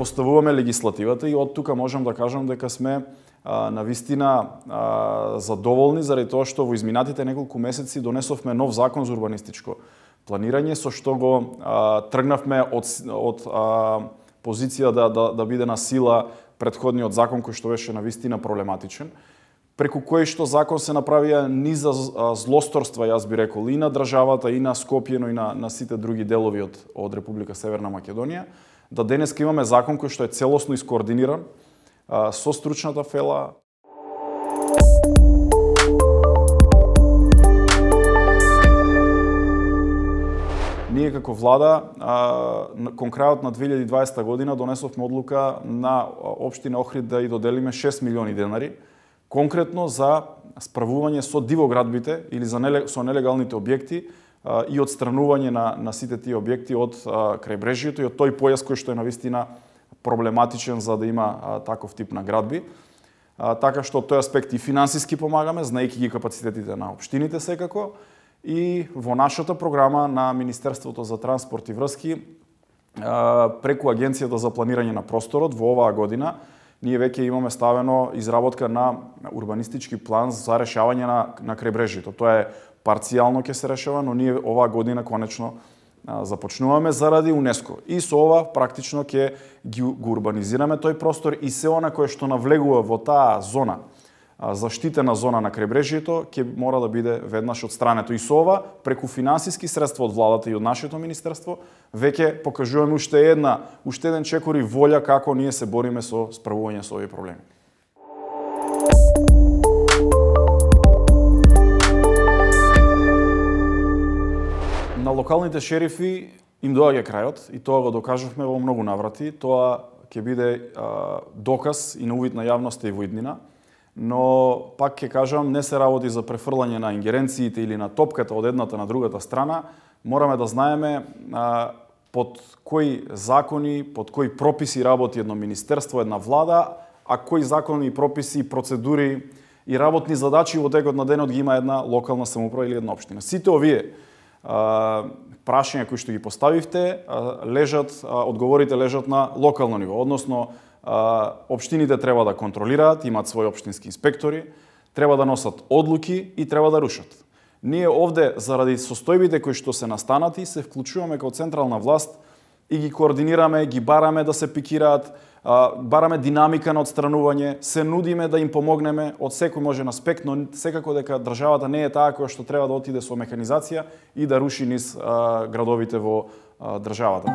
поставуваме легислативата и од тука можам да кажам дека сме навистина задоволни заради тоа што во изминатите неколку месеци донесовме нов закон за урбанистичко планирање, со што го тргнавме од позиција да биде на сила претходниот закон кој што беше навистина проблематичен, преку кој што закон се направија низ злосторства, јас би рекол, и на државата, и на Скопје, но и на сите други делови од Република Северна Македонија, да денеска имаме закон кој што е целосно искоординиран со стручната фела. Ние како влада, кон крајот на 2020 година донесовме одлука на општина Охрид да ја доделиме 6 милиони денари, конкретно за справување со дивоградбите или со нелегалните објекти и одстранување на сите тие објекти од крајбрежјето и од тој појас кој што е навистина проблематичен за да има таков тип на градби. Така што од тој аспект и финансиски помагаме, знаејќи ги капацитетите на општините секако, и во нашата програма на Министерството за транспорт и врски преку Агенцијата за планирање на просторот во оваа година ние веќе имаме ставено изработка на урбанистички план за решавање на крајбрежјето. Тоа е парцијално ќе се решава, но ние оваа година конечно започнуваме заради УНЕСКО. И со ова практично ќе го урбанизираме тој простор и се она кое што навлегува во таа зона, заштитена зона на крајбрежјето, ќе мора да биде веднаш отстрането. И со ова, преку финансиски средства од владата и од нашето министерство, веќе покажуваме уште еден чекор и волја како ние се бориме со справување со овие проблеми. На локалните шерифи им доаѓа крајот и тоа го докажавме во многу наврати. Тоа ќе биде доказ и на увид на јавноста и во иднина. Но, пак ќе кажам, не се работи за префрлање на ингеренциите или на топката од едната на другата страна. Мораме да знаеме под кои закони, под кои прописи работи едно министерство, една влада, а кои закони, прописи, процедури и работни задачи во текот на денот ги има една локална самоуправа или една општина. Сите овие прашања кои што ги поставивте, одговорите лежат на локално ниво, односно општините треба да контролираат, имаат своји општински инспектори, треба да носат одлуки и треба да рушат. Ние овде, заради состојбите кои што се настанати, се вклучуваме како централна власт и ги координираме, ги бараме да се пикираат, бараме динамика на одстранување, се нудиме да им помогнеме од секој можен аспект, но секако дека државата не е таа која што треба да отиде со механизација и да руши низ градовите во државата.